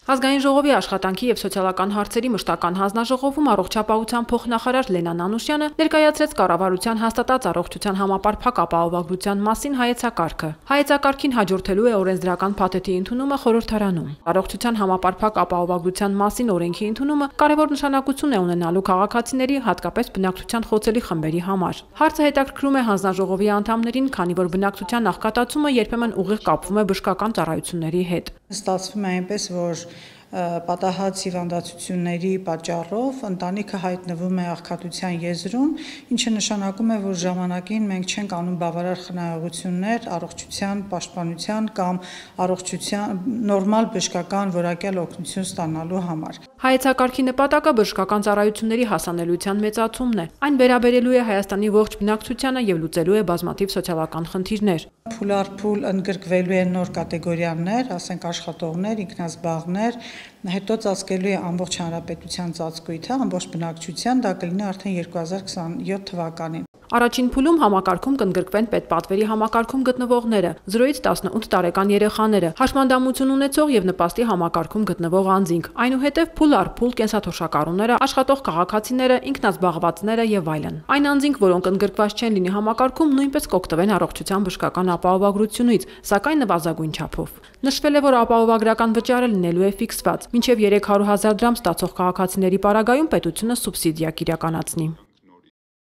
Ազգային ժողովի աշխատանքի և սոցիալական հարցերի մշտական հանձնաժողովում առողջապահության փոխնախարար Լենա Նանուշյանը ներկայացրեց կառավարության հաստատած առողջության համապարփակ ապահովագրության մասին հայեցակարգը։ Հայեցակարգին հաջորդելու է օրենսդրական փաթեթի ընդունումը խորհրդարանում։ Առողջության համապարփակ ապահովագրության մասին օրենքի ընդունումը կարևոր նշանակություն է ունենալու քաղաքացիների, հատկապես բնակչության խոցելի խմբերի համար։ Հարցը հետաքրքրում է հանձնաժողովի անդամներին, քանի որ բնակչության աղքատացումը երբեմն ուղիղ կապվում է բժշկական ծառայությունների հետ։ Ստացվում է այնպես, որ պատահած հիվանդացությունների պատճառով ընտանիքը հայտնվում է աղքատության եզրում, ինչը նշանակում է, որ ժամանակին մենք չենք անում բավարար խնայողություններ առողջության պաշտպանության կամ առողջության նորմալ բժշկական որակյալ օգնություն ստանալու համար։ Հայեցակարգի նպատակը բժշկական ծառայությունների հասանելիության մեծացումն է։ Այն վերաբերելու է Հայաստանի ողջ բնակչությանը և լուծելու է բազմաթիվ սոցիալական խնդիրներ։ Փուլարփուլ ընդգրկվելու են նոր կատեգորիաներ, ասենք աշխատողներ, ինքնազբաղներ, հետո ծածկելու է ամբողջ հանրապետության ծածկույթը, ամբողջ բնակչության, դա կլինի արդեն 2027 թվականին։ Առաջին փուլում համակարգում կընդգրկվեն պետպատվերի համակարգում գտնվողները, 0-ից 18 տարեկան երեխաները, հաշմանդամություն ունեցող և նպաստի համակարգում գտնվող անձինք, այնուհետև փուլ առ փուլ կենսաթոշակառուները, աշխատող քաղաքացիները, ինքնազբաղվածները և այլն։ Այն անձինք, որոնք ընդգրկված չեն լինի համակարգում, նույնպես կօգտվեն առողջության բժշկական ապահովագրությունից, սակայն նվազագույն չափով։ Նշվել է, որ ապահովագրական վճարը լինելու է ֆիքսված, մինչև 300 000 դրամ ստացող քաղաքացիների պարագայում պետությունը սուբսիդիա կիրականացնի։